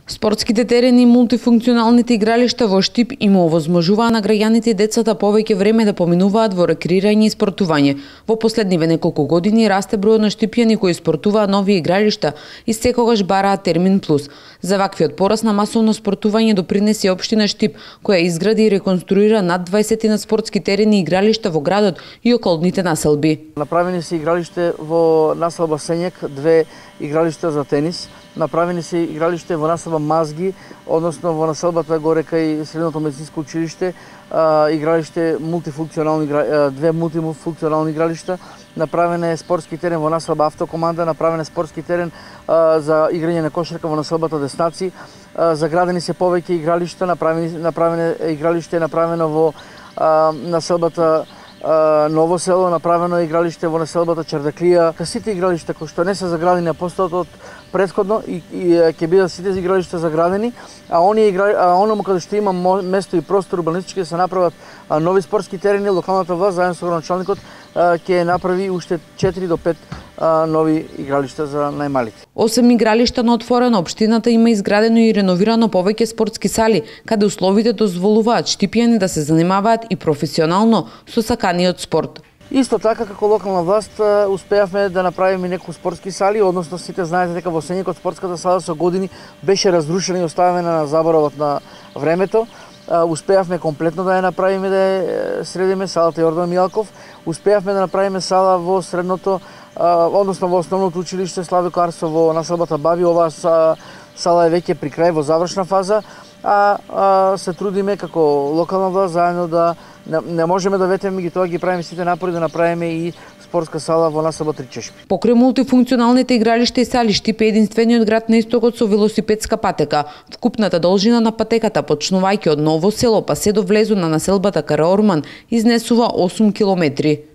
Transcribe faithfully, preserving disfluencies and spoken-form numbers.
Спортските терени и мултифункционалните игралишта во Штип им овозможуваа на граѓаните и децата повеќе време да поминуваат во рекреирање и спортување. Во последниве неколку години расте бројот на штипјани кои спортуваат нови игралишта и секогаш бараат термин плюс. За ваквиот пораст на масовно спортување допринесе општина Штип, која изгради и реконструира над дваесет на спортски терени и игралишта во градот и околните населби. Направени се игралиште во населба Сењак, две игралишта за тенис. Направени се игралиште во населба Мазги, односно во населбата горе кај Средното медицинско училиште, игралиште мултифункционални, две мултифункционални игралишта. Направен е спортски терен во населба Автокоманда, направен е спортски терен за играње на кошарка во населбата Деснаци. Заградени се повеќе игралишта, направени направено игралиште направено во населбата Ново село, направено е игралиште во населбата Чардаклија. Сите игралишта кои што не се заградени на постојат од претходно и, и ќе бидат сите игралишта заградени, а оние игра, а оному каде што има место и простор урбанистички да се направат а, нови спортски терени, локалната власт заедно со градоначалникот ќе направи уште четири до пет а, нови игралишта за најмалите. Осем игралишта на отворено, општината има изградено и реновирано повеќе спортски сали, каде условите дозволуваат штипјани да се занимаваат и професионално со саканиот спорт. Исто така, како локална власт, успеавме да направиме неколку спортски сали, односно сите знаете дека во Сењакот спортската сала со години беше разрушена и оставена на заборавот на времето. Успеавме комплетно да ја направиме, да ја средиме салата Јордан Мијалков. Успеавме да направиме сала во средното, односно во основното училиште Славе Карсо во населбата Баби. Оваа сала е веќе при крај, во завршна фаза, а, а се трудиме како локална власт заедно да не, не можеме да ветеме ги тоа, ги правиме сите напори да направиме и спортска сала во населба Тричешпи. Покрај мултифункционалните игралишта и сали, Штип е единствениот град на истокот со велосипедска патека. Вкупната должина на патеката, почнувајќи од Ново село па се до влезот на населбата Караорман, изнесува осум километри.